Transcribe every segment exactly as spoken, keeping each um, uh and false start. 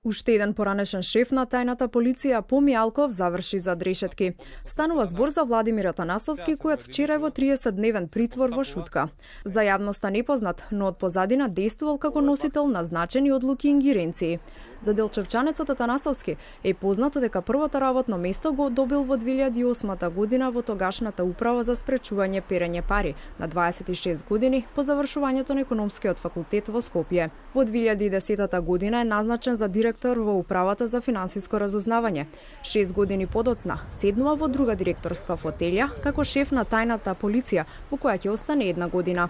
Уште еден поранешен шеф на тајната полиција По Мијалков заврши за дрешетки. Станува збор за Владимир Атанасовски, којот вчера е во триесетдневен притвор во Шутка. За јавноста непознат, но од позадина действувал како носител на значени одлуки и ингеренции. За делчевчанецот Атанасовски е познато дека првото работно место го добил во две илјади и осма година во тогашната управа за спречување перење пари на дваесет и шест години по завршувањето на економскиот факултет во Скопје. Во две илјади и десета година е назначен за директор во управата за финансиско разузнавање. Шест години подоцна седнува во друга директорска фотелја како шеф на тајната полиција, во која ќе остане една година.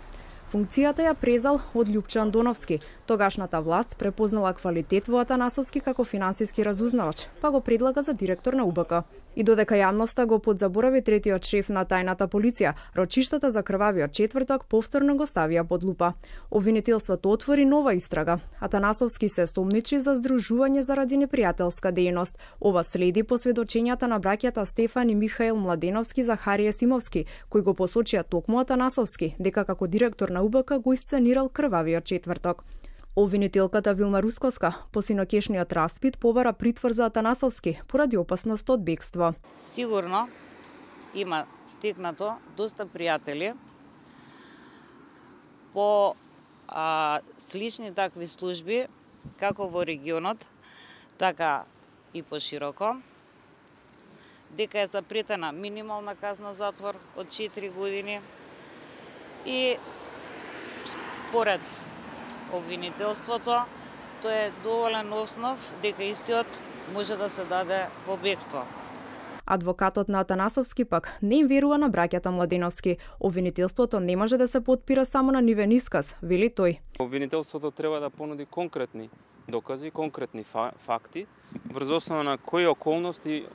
Функцијата ја презал од Љупчо Андоновски. Тогашната власт препознала квалитет во Атанасовски како финансиски разузнавач, па го предлага за директор на У Б К. И додека јавноста го подзаборави третиот шеф на тајната полиција, рочиштата за крвавиот четврток повторно го ставија под лупа. Обвинителството отвори нова истрага. Атанасовски се сомничи за здружување заради непријателска дејност. Ова следи по сведочењата на браќата Стефан и Михаил Младеновски за Харија Симовски, кои го посочија токму Атанасовски дека како директор на У Б К го исценирал крвавиот четврток. Обвинителката Вилма Рускоска по синокешниот распит побара притвор за Атанасовски поради опасност од бегство. Сигурно има стекнато доста пријатели по а, слични такви служби како во регионот, така и пошироко, дека е запретена минимална казна затвор од четири години и според обвинителството, тоа е доволен основ дека истиот може да се даде во бегство. Адвокатот на Атанасовски пак не им верува на браќата Младеновски. Обвинителството не може да се потпира само на нивен исказ, вели тој. Обвинителството треба да понуди конкретни докази, конкретни факти, врз основа на кои околности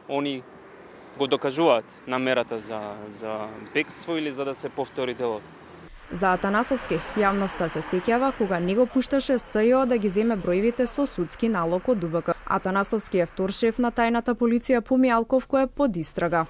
они го докажуваат намерата за, за бегство или за да се повтори делот. За Атанасовски, јавноста се сеќава кога не го пушташе С Ј О да ги земе бројвите со судски налог од У Б К. Атанасовски е втор шеф на тајната полиција По Мијалков, кој е под истрага.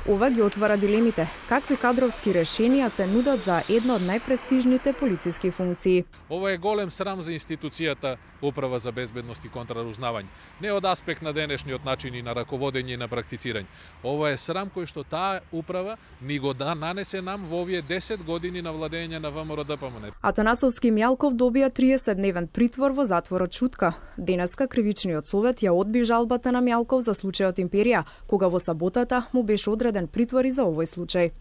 Ова ги отвара дилемите. Какви кадровски решенија се нудат за една од најпрестижните полициски функции? Ова е голем срам за институцијата Управа за безбедност и контрарузнавање. Не од аспект на денешниот начини на раководење и на практицирање. Ова е срам кој што таа управа ни го да нанесе нам во овие десет години на владење на В М Р Д П М Н. Атанасовски Мијалков добија триесетдневен притвор во затворот Шутка. Денеска кривичниот совет ја одби жалбата на Мијалков за случајот Империја, кога во саботата му беше одреден притвор и за овој случај.